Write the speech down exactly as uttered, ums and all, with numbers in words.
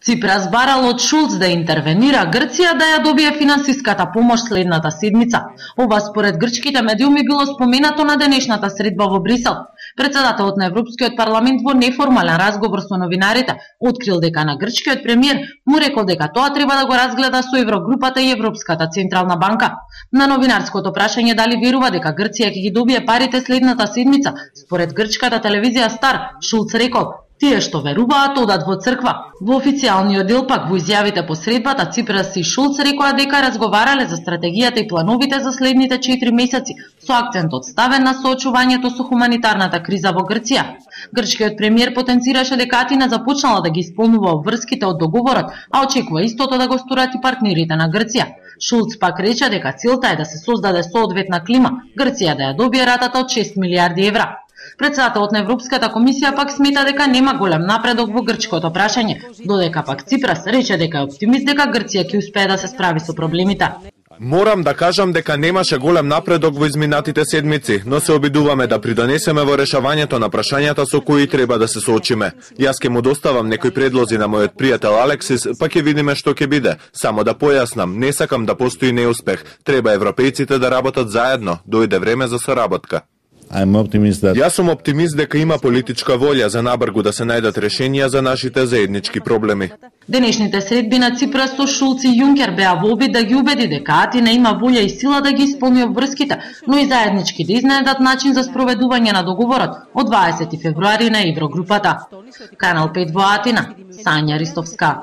Ципрас барал од Шулц да интервенира Грција да ја добие финансиската помош следната седмица. Ова според грчките медиуми било споменато на денешната средба во Брисел. Председателот на Европскиот парламент во неформален разговор со новинарите открил дека на грчкиот премиер му рекол дека тоа треба да го разгледа со Еврогрупата и Европската централна банка. На новинарското прашање дали верува дека Грција ќе ги добие парите следната седмица, според грчката телевизија Стар, Шулц рекол: тие што веруваат одат во црква. Во официјалниот дел пак во изјавите по средбата Ципрас и Шулц рекоа дека разговарале за стратегијата и плановите за следните четири месеци, со акцентот ставен на соочувањето со хуманитарната криза во Грција. Грчкиот премиер потенцираше дека Атина започнала да ги исполнува обврските од договорот, а очекува истото да го сторат и партнерите на Грција. Шулц пак рече дека целта е да се создаде соодветна клима, Грција да ја добие ратата од шест милијарди евра. Председателот на Европската комисија пак смета дека нема голем напредок во грчкото прашање, додека пак Ципрас рече дека е оптимист дека Грција ќе успее да се справи со проблемите. Морам да кажам дека немаше голем напредок во изминатите седмици, но се обидуваме да придонесеме во решавањето на прашањата со кои треба да се соочиме. Јас ќе му доставам некои предлози на мојот пријател Алексис, па ќе видиме што ќе биде. Само да појаснам, не сакам да постои неуспех. Треба европејците да работат заедно. Дојде време за соработка. That... Јас сум оптимист дека има политичка волја за набргу да се најдат решенија за нашите заеднички проблеми. Денешните средби на Ципрас со Шулц и Јункер беа во обид да ги убеди дека Атина има волја и сила да ги исполни обврските, но и заеднички да изнајдат начин за спроведување на договорот од дваесети февруари на Еврогрупата. Канал пет во Атина, Сања Ристовска.